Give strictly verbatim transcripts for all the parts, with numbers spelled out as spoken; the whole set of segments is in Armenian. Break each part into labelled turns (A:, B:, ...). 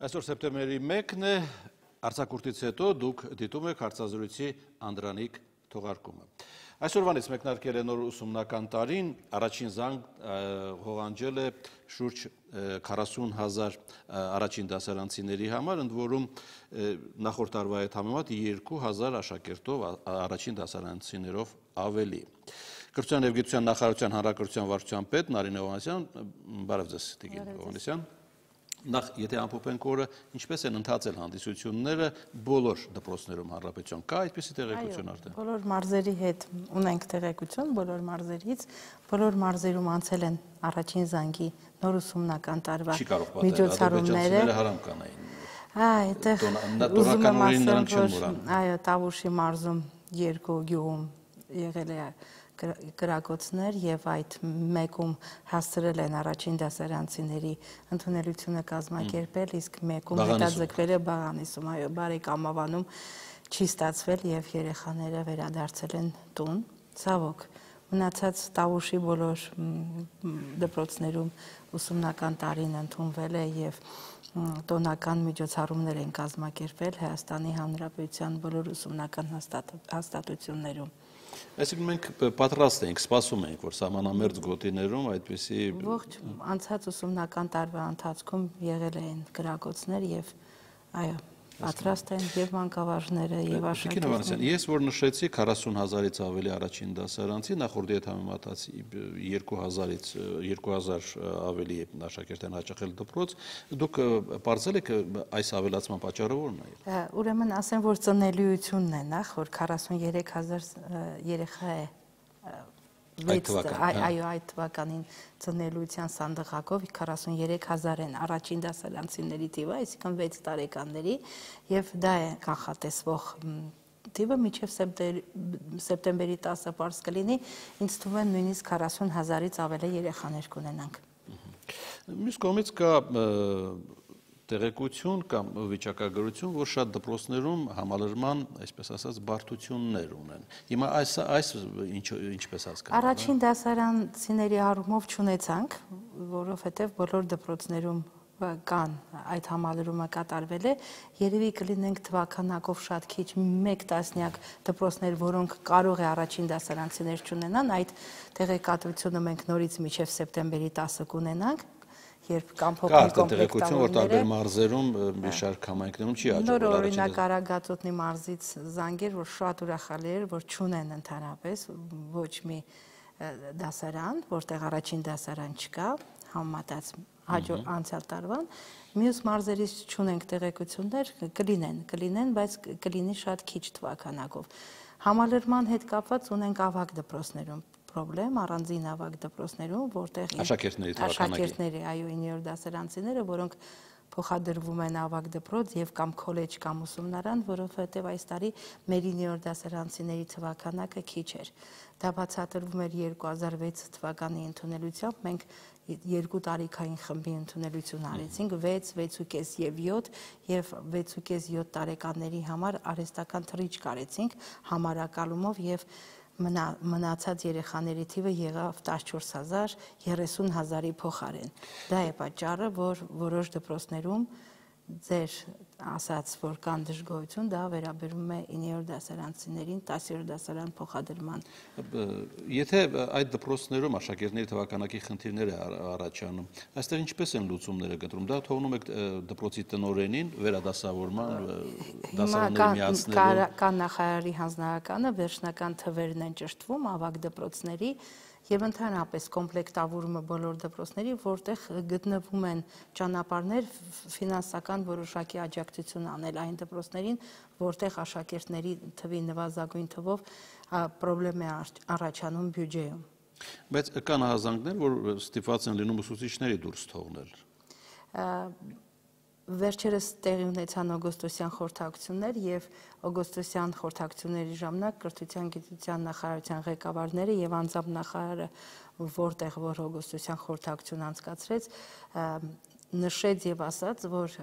A: Այսօր սեպտեմբերի մեկն է, արձակուրդից հետո դուք դիտում եք հարցազրույցի Անդրանիկ թողարկումը։ Այսօրվանից մեկնարկել է նոր ուսումնական տարին, առաջին զանգ հողանջել է շուրջ քառասուն հազար առաջին դասարանցիների համար, ընդ որում նախորդ տարվա հետ համեմատ երկու հազար աշակերտով առաջին դասարանցիներով ավելի։ Կրթության և գիտության նախարարության հանրակրթության վարչության պետ Նարինե Հովհաննիսյան, բարև ձեզ Տիկին Հովհաննիսյան։ Նախ, եթե ամփոփենք օրը, ինչպես են ընթացել հանդիսությունները բոլոր դպրոցներում հանրապետության, կա այդպիսի տեղեկություն արդեն։
B: Բոլոր մարզերի հետ ունենք տեղեկություն, բոլոր մարզերից, բոլոր մարզերում անցել են առաջին զանգի նոր ուսումնական տարվա միջոցառումները։
A: Հարամ կանային։
B: Այդտեղ ուզում եմ ասել, որ այո, Տավուշի մարզում երկու գյուղում եղել է կրակոցներ եւ այդ մեկում հասցրել են առաջին դասարանցիների ընդունելությունը կազմակերպել, իսկ մեկում հետաձգվել է Բաղանիսում, այո, Բարեկամավանում չի ստացվել եւ երեխաները վերադարձել են տուն, ցավոք։ Մնացած Տավուշի բոլոր դպրոցներում ուսումնական տարին ընդունվել է եւ տոնական միջոցառումներ են կազմակերպել Հայաստանի Հանրապետության բոլոր ուսումնական հաստատություններում։
A: Այսինքն մենք պատրաստ ենք, սպասում ենք, որ սահմանամերձ գոտիներում այդպիսի
B: ողջ անցած ուսումնական տարվա ընթացքում եղել են կրակոցներ եւ այո, պատրաստ են եւ մանկավարժները եւ աշակերտները։
A: Ես որ նշեցի քառասուն հազարից ավելի առաջին դասարանցի, նախորդի հետ համեմատած երկու հազարից երկու հազար ավելի աշակերտ են հաճախել դպրոց, դուք պարզել եք այս ավելացման պատճառը ո՞րն է։
B: Ուրեմն ասեմ, որ ծնելիությունն է նախ, որ քառասուն երեք հազար երեխա է այո, այդ թվականին ծնելիության սանդղակով քառասուն երեք հազար են առաջին դասարանցիների թիվը, այսինքն վեց տարեկանների, եւ դա է կանխատեսվող թիվը մինչև սեպտեմբերի տասը պարզ կլինի, ինձ թվում է նույնիսկ քառասուն հազարից ավելի երեխաներ կունենանք։
A: Մյուս կողմից կա տեղեկություն կամ վիճակագրություն, որ շատ դպրոցներում համալրման, այսպես ասած, բարդություններ ունեն։ Հիմա այս այս ինչպես հասկանալ։
B: Առաջին դասարանցիների առումով չունեցանք, որովհետև բոլոր դպրոցներում կան այդ համալրումը կատարվել է, երևի կլինենք թվականակով շատ քիչ մեկ տասնյակ դպրոցներ, որոնք կարող է առաջին դասարանցիներ չունենան, այդ տեղեկատվությունը մենք նորից մինչև սեպտեմբերի տասը կունենանք, երբ կամ փոքր կոմպլեկտավորները,
A: որ տարբեր մարզերում մի շարք համայնքներում չի աջակցել։
B: Նոր օրինակ Արագածոտնի մարզից զանգեր, որ շատ ուրախալի էր, որ չունեն ընդհանրապես ոչ մի դասարան, որտեղ առաջին դասարան չկա, համեմատած հաջորդ անցյալ տարվան, մյուս մարզերից չունենք տեղեկություններ, կլինեն, կլինեն, բայց կլինի շատ քիչ թվականակով։ Համալրման հետ կապված ունենք ավագ դպրոցներում պրոբլեմ, առանձին ավագ դպրոցներում, որտեղ աշակերտների, այո, իններորդ դասարանցիները, որոնք փոխադրվում են ավագ դպրոց եւ կամ քոլեջ կամ ուսումնարան, որովհետեւ այս տարի մեր իններորդ դասարանցիների թվականակը քիչ էր։ Դա բացատրվում էր երկու հազար վեց թվականի ընդունելությամբ, մենք երկու տարիքային խմբի ընդունելություն արեցինք, վեց, վեցուկես եւ յոթ եւ վեցուկես յոթ տարեկանների համար արհեստական թռիչք արեցինք համարակալումով եւ մնացած երեխաների թիվը եղավ տասնչորս հազար երեսուն հազարի փոխարեն։ Դա է պատճառը, որ որոշ դպրոցներում ձեր ասած, որ կան դժգոհություն, դա վերաբերում է իններորդ դասարանցիներին տասերորդ դասարան փոխադրման։
A: Եթե այդ դպրոցներում աշակերտների թվականակի խնդիրներ է առաջանում, այստեղ ինչպես են լուծումները գտնվում, դա թողնում եք դպրոցի տնօրենին վերադասավորման, դասարանների միացնելու։
B: Կա նախարարի հանձնարարականը, վերջնական թվերն են ճշտվում ավագ դպրոցների եւ ընդհանրապես կոմպլեկտավորումը բոլոր դպրոցների, որտեղ գտնվում են ճանապարհներ ֆինանսական որոշակի աջակցություն անել այն դպրոցներին, որտեղ աշակերտների թվի նվազագույն թվով պրոբլեմ է առաջանում բյուջեում։
A: Բայց կան հազանգներ, որ ստիպված են լինում ուսուցիչների դուրս թողնել։
B: Վերջերս տեղի ունեցան օգոստոսյան խորհրդակցություններ եւ օգոստոսյան խորհրդակցությունների ժամանակ կրթության գիտության նախարարության ղեկավարները եւ անձամբ նախարարը, որտեղ որ օգոստոսյան խորհրդակցություն անցկացրեց, նշեց եւ ասաց, որ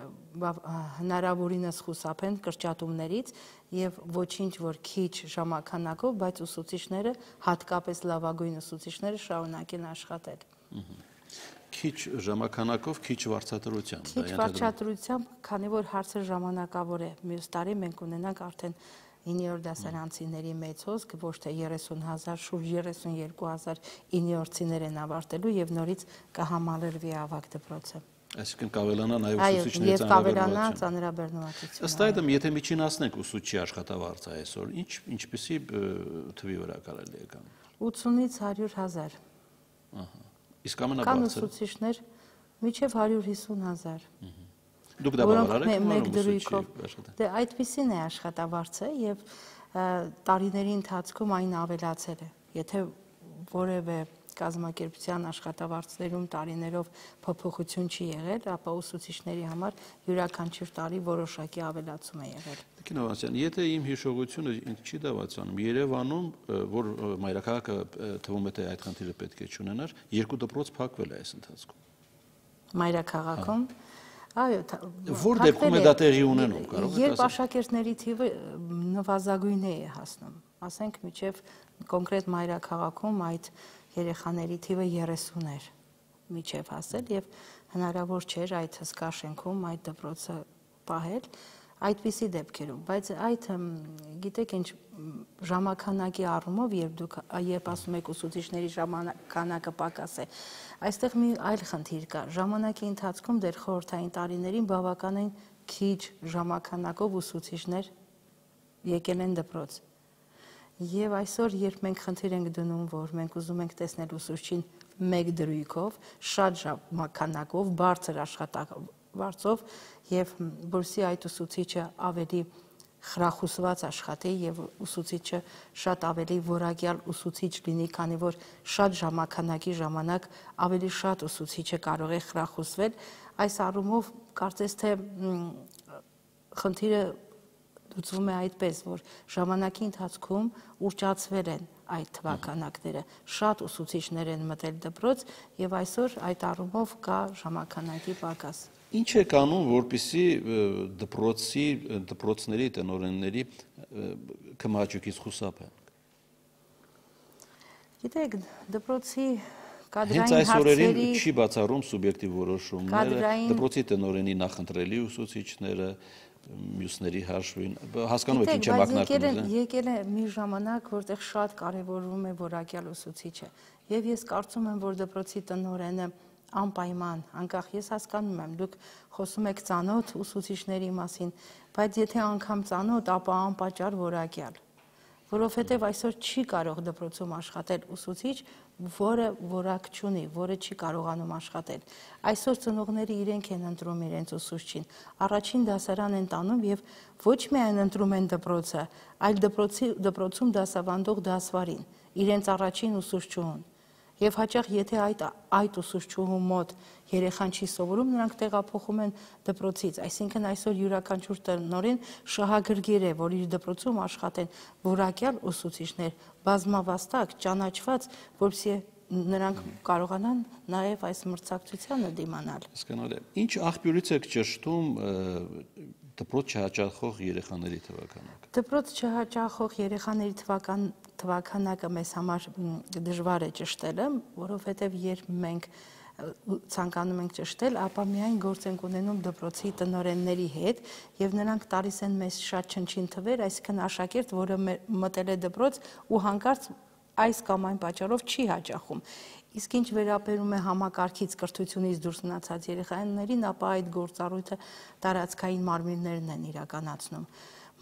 B: հնարավորինս խուսափեն կրճատումներից եւ ոչինչ որ քիչ ժամանակով, բայց ուսուցիչները, հատկապես լավագույն ուսուցիչները շարունակեն աշխատել։
A: Քիչ ժամանակով, քիչ վարձատրությամբ։
B: Քիչ վարձատրությամբ, քանի որ հարցը ժամանակավոր է։ Մյուս տարի մենք ունենանք արդեն իններորդ դասարանցիների մեծ հոսք, ոչ թե երեսուն հազար, շուրջ երեսունյոթ հազար իններորդցիներ են ավարտելու եւ նորից կհամալրվի ավագ դպրոցը։
A: Այսինքն կավելանա նաեւ
B: Այո,
A: ուսուցիչների
B: եւ կավելանա ծանրաբեռնվածությունը։
A: Ըստ այդմ, եթե միջինացնենք ուսուցչի աշխատավարձը այսօր, ինչ ինչպեսի թվի վրա կարելի է կան։
B: ութսունից հարյուր հազար։
A: Ահա։ Իսկ ամենաբարձր։
B: Կան ուսուցիչներ մինչև հարյուր հիսուն հազար։
A: Դուք դա բավարար եք
B: մեկ դրույքով։ Դե այդպեսին է աշխատավարձը եւ տարիների ընթացքում այն ավելացել է։ Եթե որևէ կազմակերպության աշխատավարձներում տարիներով փոփոխություն չի եղել, ապա ուսուցիչների համար յուրաքանչյուր տարի որոշակի ավելացում է եղել։
A: Տիկին Հովհաննիսյան, եթե իմ հիշողությունը ինձ չի դավացանում, Երևանում, որ մայրաքաղաքը թվում է թե այդ խնդիրը պետք է չունենար, երկու դպրոց փակվել է այս ընթացքում։
B: Մայրաքաղաքում, այո,
A: որ դեպքում է դա տեղի ունենում, կարող եք
B: երբ աշակերտների թիվը նվազագույն է հասնում, ասենք մինչև կոնկրետ մայրաքաղաքում այդ երեխաների թիվը երեսուն էր միջև հասել եւ հնարավոր չէր այդ հսկա շենքում այդ դպրոցը պահել այդպիսի դեպքերում, բայց այդ գիտեք ինչ ժամանականակի առումով, երբ դուք երբ ասում եք ուսուցիչների ժամանականակը պակաս է, այստեղ մի այլ խնդիր կա, ժամանակի ընթացքում դեռ խորհրդային տարիներին բավականին քիչ ժամանականակով ուսուցիչներ եկել են դպրոց։ Եվ այսօր, երբ մենք խնդիր ենք դնում, որ մենք ուզում ենք տեսնել ուսուցչին մեկ դրույքով, շատ ժամանականակով, բարձր աշխատավարձով եւ որսի այդ ուսուցիչը ավելի խրախուսված աշխատի եւ ուսուցիչը շատ ավելի որակյալ ուսուցիչ լինի, քանի որ շատ ժամանականակի ժամանակ ավելի շատ ուսուցիչը կարող է խրախուսվել, այս առումով կարծես թե խնդիրը լուծվում է այդպես, որ ժամանակի ընթացքում ուռճացվել են այդ թվականակները, շատ ուսուցիչներ են մտել դպրոց եւ այսօր այդ առումով կա ժամանականակի պակաս։
A: Ինչ է կանում, որպեսզի դպրոցի, դպրոցների տնօրենների կմահաճույքից խուսափեն։
B: Գիտեք, դպրոցի կադրային
A: հարցերի… Հենց այս օրերին չի բացառում սուբյեկտիվ որոշումները, դպրոցի տնօրենի նախընտրելի ուսուցիչները, մյուսների հաշվին, հասկանում եք ինչ եմ ակնարկում։
B: Եկել է մի ժամանակ, որտեղ շատ կարևորվում է որակյալ ուսուցիչը, եւ ես կարծում եմ, որ դպրոցի տնօրենը անպայման, անկախ ես հասկանում եմ, դուք խոսում եք ծանոթ ուսուցիչների մասին, բայց եթե անգամ ծանոթ, ապա անպատճառ որակյալ, որովհետև այսօր չի կարող դպրոցում աշխատել ուսուցիչ, որը որակ չունի, որը չի կարողանում աշխատել։ Այսօր ծնողները իրենք են ընտրում իրենց ուսուցչին, առաջին դասարան են տանում եւ ոչ միայն ընտրում են դպրոցը, այլ դպրոցի դպրոցում դասավանդող դասվարին, իրենց առաջին ուսուցչուհուն։ Եվ հաճախ եթե այդ այդ ուսուցչուհու մոտ երեխան չի սովորում, նրանք տեղափոխում են դպրոցից, այսինքն այսօր յուրաքանչյուր տնօրեն շահագրգիռ է, որ իր դպրոցում աշխատեն որակյալ ուսուցիչներ, բազմավաստակ, ճանաչված, որպեսզի նրանք կարողանան նաև այս մրցակցությանը դիմանալ։
A: Հասկանալի է։ Ինչ աղբյուրից եք ճշտում դպրոց չհաճախող երեխաների թվականակը։
B: Դպրոց չհաճախող երեխաների թվական թվականակը մեզ համար դժվար է ճշտելը, որովհետև երբ մենք ցանկանում ենք ճշտել, ապա միայն գործ ենք ունենում դպրոցի տնօրենների հետ եւ նրանք տալիս են մեզ շատ չնչին թվեր, այսինքն աշակերտ, որը մտել է դպրոց ու հանկարծ այս կամ այն պատճառով չի հաճախում։ Իսկ ինչ վերաբերում է համակարգից կրթությունից դուրս մնացած երեխաներին, ապա այդ գործառույթը տարածքային մարմիններն են իրականացնում։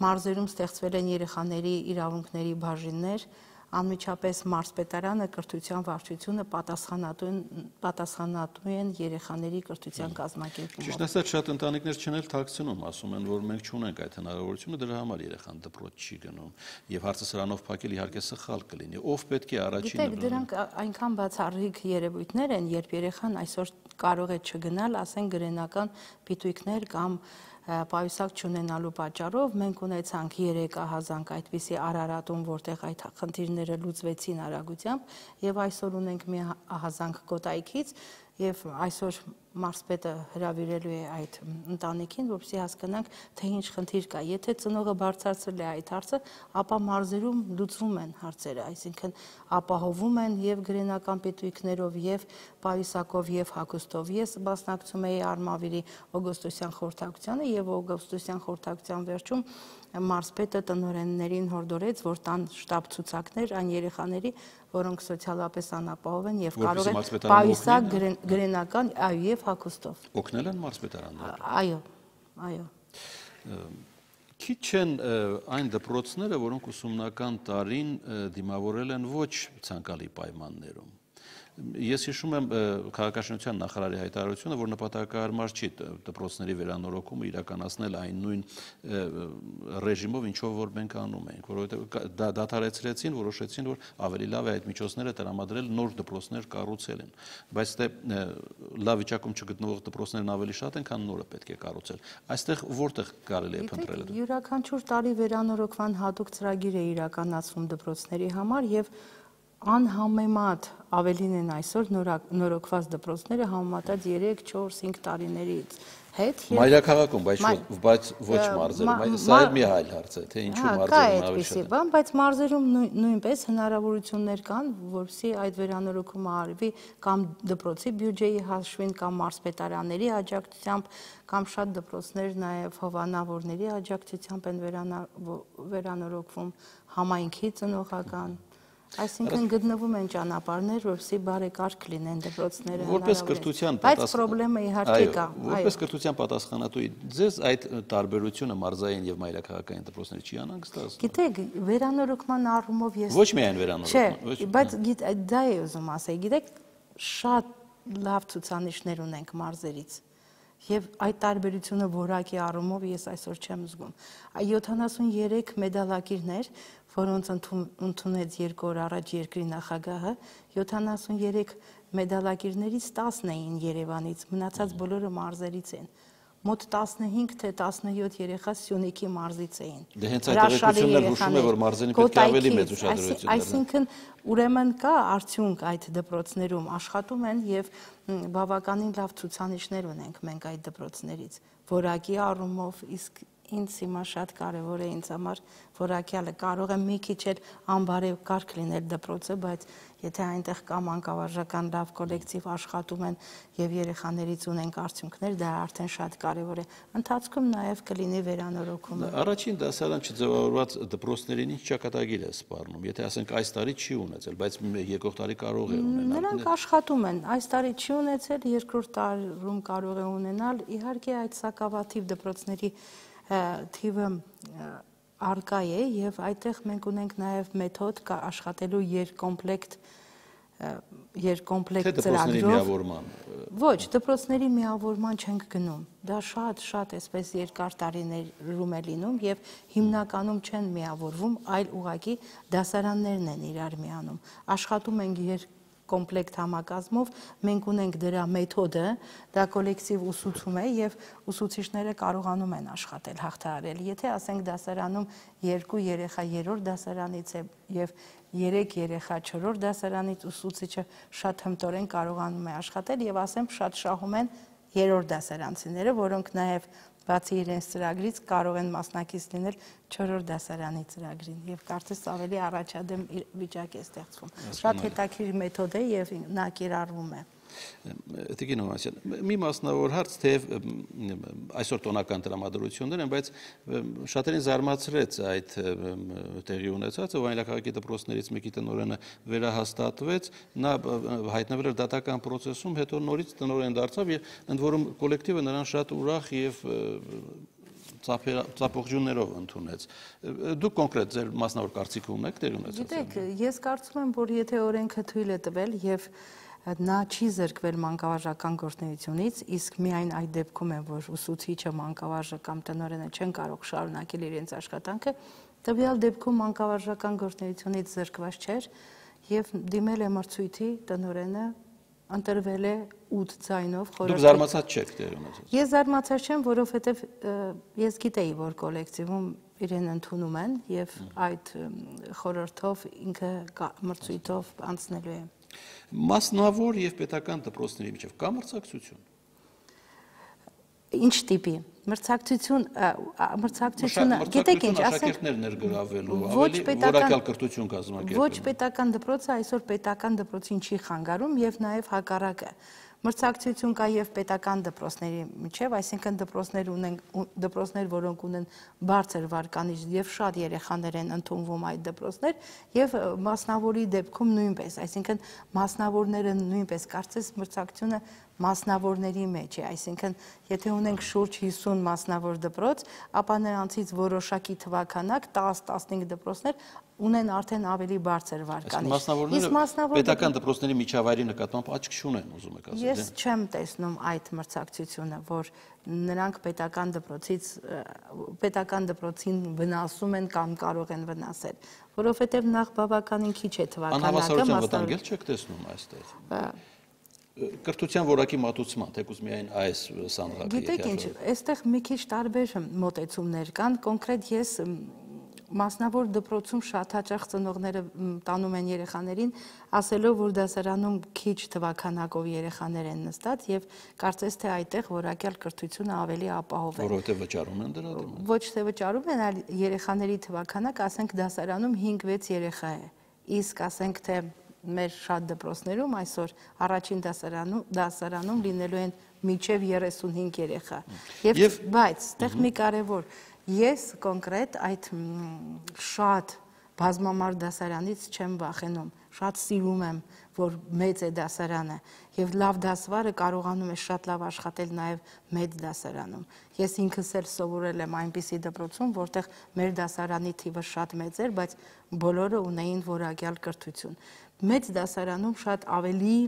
B: Մարզերում ստեղծվել են երեխաների իրավունքների բաժիններ, անմիջապես մարզպետարանը, կրթության վարչությունը պատասխանատու են պատասխանատու են երեխաների կրթության կազմակերպումով։
A: Ճիշտ ասած, շատ ընտանիքներ չեն էլ թաքցնում, ասում են, որ մենք չունենք այդ հնարավորությունը, դրա համար երեխան դպրոց չի գնում։ Եվ հարցը սրանով փակել իհարկե սխալ կլինի։ Ով պետք է առաջինը։
B: Գիտեք, դրանք այնքան բացառիկ երևույթներ են, երբ երեխան այսօր կարող է չգնալ, ասենք գրենական պիտույքներ կամ պայուսակ չունենալու պատճառով մենք ունեցանք երեք ահազանգ այդպիսի Արարատում, որտեղ այդ խնդիրները լուծվեցին արագությամբ, եւ այսօր ունենք մի ահազանգ Կոտայքից, եւ այսօր մարզպետը հրավիրելու է այդ ընտանիքին, որպեսզի հասկանանք, թե ինչ խնդիր կա։ Եթե ծնողը բարձրացրել է այդ հարցը, ապա մարզերում լուծվում են հարցերը, այսինքն ապահովում են եւ գրենական պետույքներով, եւ պայուսակով, եւ հագուստով։ Ես մասնակցում էի Արմավիրի օգոստոսյան խորհրդակցությանը եւ օգոստոսյան խորհրդակցության վերջում մարզպետը տնօրեններին հորդորեց, որ տան շտաբ ցուցակներ այն երեխաների, որոնք սոցիալապես անապահով են եւ կարող են պայուսակ գրենական այո եւ հագուստով։
A: Օգնել են մարզպետարանները։
B: Այո, այո։
A: Քիչ են այն դպրոցները, որոնք ուսումնական տարին դիմավորել են ոչ ցանկալի պայմաններում։ Ես հիշում եմ քաղաքաշինության նախարարի հայտարարությունը, որ նպատակահարմար չի դպրոցների վերանորոգումը իրականացնել այն նույն ռեժիմով, ինչով որ մենք անում ենք, որովհետև դադարեցրեցին, որոշեցին, որ ավելի լավ է այդ միջոցները տրամադրել, նոր դպրոցներ կառուցել են, բայց դե լավ վիճակում չգտնվող դպրոցներն ավելի շատ են, քան նորը պետք է կառուցել։ Այստեղ որտեղ կարելի է փնտրել դա։
B: Յուրաքանչյուր տարի վերանորոգման հատուկ ծրագիր է իրականացվում դպրոցների համար եւ անհամեմատ ավելին են այսօր նորոգված դպրոցները համեմատած երեք, չորս, հինգ տարիներից հետ։
A: Մայրաքաղաքում, բայց ոչ մարզերում, սա էլ մի այլ հարց է, թե ինչու մարզերում ավելի շատ է։
B: Բայց մարզերում նույնպես հնարավորություններ կան, որպեսզի այդ վերանորոգումը արվի կամ դպրոցի բյուջեի հաշվին, կամ մարզպետարանների աջակցությամբ, կամ շատ դպրոցներ նաև հովանավորների աջակցությամբ են վերանորոգվում, համայնքի ծնողական։ Այսինքն գտնվում են ճանապարհներ, որպեսզի բարեկարգ լինեն դպրոցները։
A: Որպես կրթության
B: բայց խնդրեմը իհարկե կա։
A: Որպես կրթության պատասխանատու, ձեզ այդ տարբերությունը մարզային եւ մայրաքաղաքային դպրոցների չի անհանգստացնում։
B: Գիտեք, վերանորոգման առումով ես
A: Ոչ միայն վերանորոգման,
B: չէ, բայց դա է ուզում ասել, գիտեք, շատ լավ ցուցանիշներ ունենք մարզերից։ Եվ այդ տարբերությունը որակի առումով ես այսօր չեմ զգում։ յոթանասուներեք մեդալակիրներ, որոնց ընդունեց երկու օր առաջ երկրի նախագահը, յոթանասուներեք մեդալակիրներից տասն էին Երևանից, մնացած բոլորը մարզերից են։ Մոտ տասնհինգ թե տասնյոթ երեխա Սյունիքի մարզից էին։
A: Դե հենց այդ տեղեկությունն էլ հուշում է, որ մարզերին պետք է ավելի մեծ ուշադրություն դառնա։
B: Այսինքն ուրեմն կա արդյունք այդ դպրոցներում, աշխատում են եւ բավականին լավ ցուցանիշներ ունենք մենք այդ դպրոցներից, որակի առումով, իսկ ինձ հիմա շատ կարևոր է ինձ համար որակյալը, կարող է մի քիչ էլ անբարև կարգ լինել դպրոցը, բայց եթե այնտեղ կա մանկավարժական լավ կոլեկտիվ աշխատում են եւ երեխաներից ունենք արդյունքներ, դա արդեն շատ կարևոր է։ Ընթացքում նաեւ կլինի վերանորոգումը։
A: Առաջին դասարան չձևավորված դպրոցներին ինչ ճակատագիր է սպառնում, եթե ասենք այս տարի չի ունեցել, բայց եկող տարի կարող է ունենալ։
B: Նրանք աշխատում են, այս տարի չի ունեցել, երկրորդ տարում կարող է ունենալ, իհարկե այդ սակավաթիվ դպրոցների թիվը արկա է եւ այդտեղ մենք ունենք նաեւ մեթոդ աշխատելու երկկոմպլեկտ երկկոմպլեկտ ծրագրով։ Ոչ, դպրոցների միավորման չենք գնում։ Դա շատ շատ էսպես երկար տարիներում է լինում եւ հիմնականում չեն միավորվում, այլ ուղղակի դասարաններն են իրար միանում։ Աշխատում ենք երկ կոմպլեկտ համակազմով, մենք ունենք դրա մեթոդը, դա կոլեկտիվ ուսուցում է եւ ուսուցիչները կարողանում են աշխատել, հաղթահարել։ Եթե ասենք դասարանում երկու երեխա երրորդ դասարանից է եւ երեք երեխա չորրորդ դասարանից, ուսուցիչը շատ հմտորեն կարողանում է աշխատել եւ ասեմ շատ շահում են երրորդ դասարանցիները, որոնք նաեւ բացի իրենց ծրագրից կարող են մասնակից լինել չորրորդ դասարանի ծրագրին եւ կարծես ավելի առաջադեմ վիճակ է ստեղծվում։ Շատ հետաքրքիր մեթոդ է եւ նա կիրառվում է։
A: Տիկին Հովհաննիսյան, մի մասնավոր հարց, թեև այսօր տոնական տրամադրություններ են, բայց շատերին զարմացրեց այդ տեղի ունեցածը, Վայելաքաղաքի դպրոցներից մեկի տնօրենը վերահաստատվեց, նա հայտնվել էր դատական պրոցեսում, հետո նորից տնօրեն դարձավ եւ ընդ որում կոլեկտիվը նրան շատ ուրախ եւ ծափողջուններով ընդունեց։ Դուք կոնկրետ ձեր մասնավոր կարծիքը ունեք տեղի ունեցած։
B: Գիտեք, ես կարծում եմ, որ եթե օրենքը թույլ է տվել եւ նա չի զրկվել մանկավարժական գործունեությունից, իսկ միայն այդ դեպքում է, որ ուսուցիչը, մանկավարժը կամ տնօրենը չեն կարող շարունակել իրենց աշխատանքը, տվյալ դեպքում մանկավարժական գործունեությունից զրկված չէր եւ դիմել է մրցույթի տնօրենը, ընտրվել է ութ ձայնով խորհրդի։
A: Դուք զարմացած չեք տեղի ունեցած։
B: Ես զարմացած չեմ, որովհետեւ ես գիտեի, որ կոլեկտիվում իրեն ընդունում են եւ այդ խորհրդով ինքը մրցույթով անցնելու է։
A: Մասնավոր եւ պետական դպրոցների միջև կա մրցակցություն։
B: Ինչ տիպի մրցակցություն մրցակցությունը գիտեք ինչ ասենք
A: աշակերտներ ներգրավելու ավելի որակյալ կրթություն կազմակերպելու
B: ոչ պետական դպրոցը այսօր պետական դպրոցին չի խանգարում եւ նաեւ հակառակը մրցակցություն կա եւ պետական դպրոցների միջև, այսինքն դպրոցներ ունեն դպրոցներ, որոնք ունեն բարձր վարկանիշ եւ շատ երեխաներ են ընդունվում այդ դպրոցներ եւ մասնավորի դեպքում նույնպես, այսինքն մասնավորները նույնպես կարծես մրցակցությունը մասնավորների մեջ է, այսինքն եթե ունենք շուրջ հիսուն մասնավոր դպրոց, ապա նրանցից որոշակի թվականակ տասը տասնհինգ դպրոցներ ունեն արդեն ավելի բարձր վարկանիշ։
A: Մասնավորները պետական դպրոցների միջավայրի նկատմամբ աչք չունեն, ուզում եք ասել։
B: Ես չեմ տեսնում այդ մրցակցությունը, որ նրանք պետական դպրոցից պետական դպրոցին վնասում են կամ կարող են վնասել, որովհետև նախ բավականին քիչ է թվականակը։
A: Անհավասարության վտանգել չեք տեսնում այստեղ։ Կրթության որակի մատուցման, թեկուզ միայն այս սանդղակը։
B: Գիտեք ինչ, այստեղ մի քիչ տարբեր մոտեցումներ կան, կոնկրետ ես մասնավոր դպրոցում շատ հաճախ ծնողները տանում են երեխաներին, ասելով, որ դասարանում քիչ թվականակով երեխաներ են նստած եւ կարծես թե այդտեղ որակյալ կրթությունը ավելի ապահով է։
A: Որովհետեւ վճարում են դրա դիմաց։
B: Ոչ թե վճարում են, այլ երեխաների թվականակ, ասենք դասարանում հինգ վեց երեխա է։ Իսկ ասենք թե մեր շատ դպրոցներում այսօր առաջին դասարանում դասարանում լինելու են մինչև երեսունհինգ երեխա։ Եվ բայց այդտեղ մի կարևոր ես կոնկրետ այդ շատ բազմամարդ դասարանից չեմ վախենում, շատ սիրում եմ, որ մեծ է դասարանը եւ լավ դասվարը կարողանում է շատ լավ աշխատել նաեւ մեծ դասարանում։ Ես ինքս էլ սովորել եմ այնպիսի դպրոցում, որտեղ մեր դասարանի թիվը շատ մեծ էր, բայց բոլորը ունեին որակյալ կրթություն։ Մեծ դասարանում շատ ավելի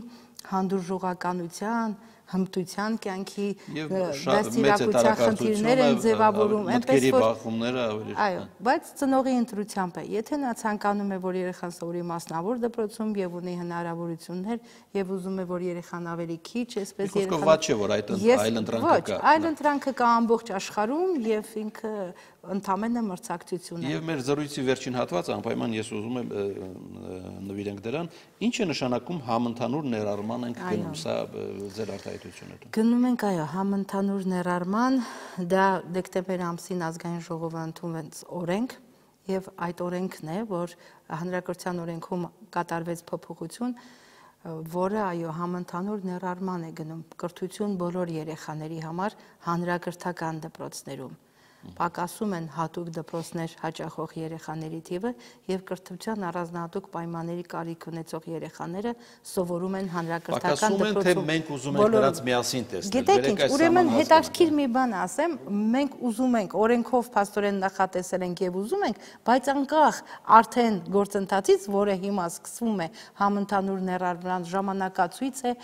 B: հանդուրժողականության, հմտության կյանքի դաստիարակության խնդիրներ են ձևավորում,
A: այնպես որ
B: այո, բայց ծնողի ընտրությամբ է։ Եթե նա ցանկանում է, որ երեխան սովորի մասնավոր դպրոցում եւ ունի հնարավորություններ եւ ուզում է, որ երեխան ավելի քիչ, այսպես
A: երեխան ված չէ, որ այդ այլընտրանքը կա։
B: Ոչ, այլընտրանքը կա ամբողջ աշխարհում եւ ինքը ընդամենը մրցակցություն է։
A: Եվ մեր զրույցի վերջին հատվածը անպայման ես ուզում եմ նվիրենք դրան, ինչ է նշանակում համընդհանուր ներառման ենք գնում, սա ձեր արտահայտությունը։
B: Գնում ենք, այո, համընդհանուր ներառման, դա դեկտեմբեր ամսին ազգային ժողովը ընդունվեց օրենք եւ այդ օրենքն է, որ հանրակրթության օրենքում կատարվեց փոփոխություն, որը այո համընդհանուր ներառման է գնում կրթություն բոլոր երեխաների համար հանրակրթական դպրոցներում։ Պակասում են հատուկ դպրոցներ հաճախող երեխաների թիվը եւ կրթության առանձնահատուկ պայմանների կարիք ունեցող երեխաները սովորում են հանրակրթական դպրոցում։
A: Պակասում են, թե մենք ուզում ենք նրանց միասին տեսնել։
B: Գիտեք ինչ, ուրեմն հետաքրքիր մի բան ասեմ, մենք ուզում ենք, օրենքով փաստորեն նախատեսել ենք եւ ուզում ենք, բայց անկախ արդեն գործընթացից, որը հիմա սկսվում է համընդհանուր ներառման ժամանակացույց է,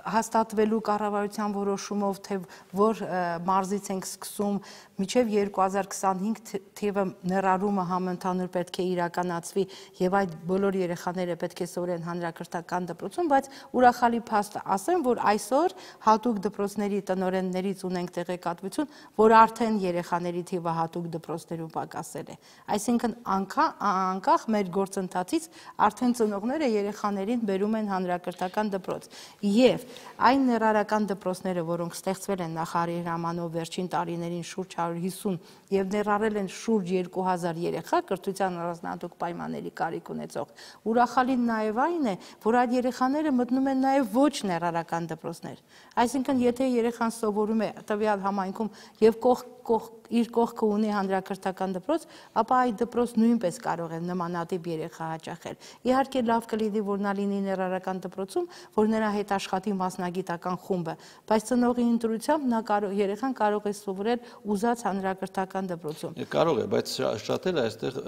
B: հաստատվելու կառավարության որոշումով, թե որ մարզից ենք սկսում, մինչև երկու հազար քսանհինգ թիվը ներառումը համընդհանուր պետք է իրականացվի եւ այդ բոլոր երեխաները պետք է սովորեն հանրակրթական դպրոցում, բայց ուրախալի փաստ ասեմ, որ այսօր հատուկ դպրոցների տնօրեններից ունենք տեղեկատվություն, որ արդեն երեխաների թիվը հատուկ դպրոցներում պակասել է։ Այսինքն անկախ մեր գործընթացից արդեն ծնողները երեխաներին բերում են հանրակրթական դպրոց։ Եվ այն ներառական դպրոցները, որոնք ստեղծվել են նախարարի հրամանով վերջին տարիներին շուրջ հարյուր հիսուն եւ ներառել են շուրջ երկու հազար երեխա կրթության առանձնահատուկ պայմանների կարիք ունեցող, ուրախալին նաեւ այն է, որ այդ երեխաները մտնում են նաեւ ոչ ներառական դպրոցներ։ Այսինքն, եթե երեխան սովորում է տվյալ համայնքում եւ կողք կողք իր կողքը ունի հանրակրթական դպրոց, ապա այդ դպրոց նույնպես կարող է նմանատիպ երեխա հաճախել։ Իհարկե լավ կլինի, որ նա լինի ներառական դպրոցում, որ նրա հետ աշխատի մասնագիտական խումբը, բայց ծնողի ընտրությամբ նա կարող երեխան կարող է սովորել ուզած հանրակրթական դպրոցում։
A: Կարող է, բայց շատերը այստեղ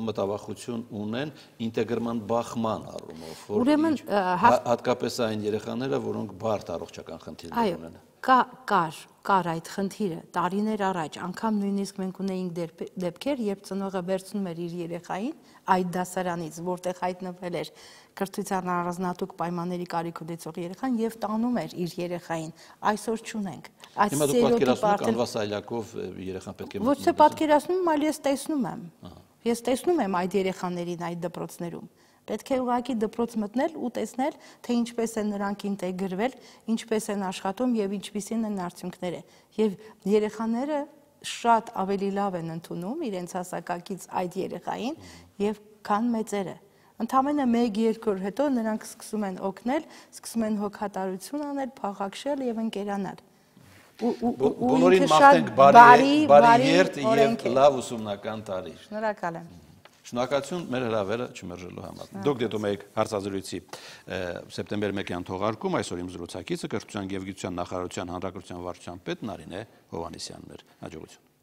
A: մտավախություն ունեն ինտեգրման բախման առումով, որ հատկապես այն երեխաները, որոնք բարդ առողջական խնդիրներ ունեն։
B: Կա կար կար այդ խնդիրը տարիներ առաջ, անգամ նույնիսկ մենք ունեինք դեպքեր, երբ ծնողը վերցնում էր իր երեխային այդ դասարանից, որտեղ հայտնվել էր կրթության առանձնահատուկ պայմանների կարիք ունեցող երեխան եւ տանում էր իր երեխային։ Այսօր չունենք։ Այս
A: ստերեոտիպը անվաս այլակով երեխան պետք է
B: ոչ թե պատկերացնում, այլ ես տեսնում եմ։ Ես տեսնում եմ այդ երեխաներին այդ դպրոցներում։ Պետք է ուղղակի դպրոց մտնել ու տեսնել, թե ինչպես են նրանք ինտեգրվել, ինչպես են աշխատում եւ ինչպիսին են արդյունքները։ Եվ երեխաները շատ ավելի լավ են ընդունում իրենց հասակակից այդ երեխային եւ քան մեծերը։ Ընդամենը մեկ-երկու օր հետո նրանք սկսում են օգնել, սկսում են հոգատարություն անել, փաղաքշել եւ ընկերանալ։
A: Բոլորին մաղթենք բարի երթ եւ լավ ուսումնական տարի։
B: Շնորհակալ եմ։
A: Շնորհակալություն մեր հրավերը չմերժելու համար։ Դուք դիտում եք հարցազրույցի սեպտեմբեր մեկյան թողարկում, այսօր իմ զրուցակիցը կրթության եւ գիտության նախարարության հանրակրթության վարչության պետ Նարինե Հովհաննիսյանն էր։ Հաջողություն։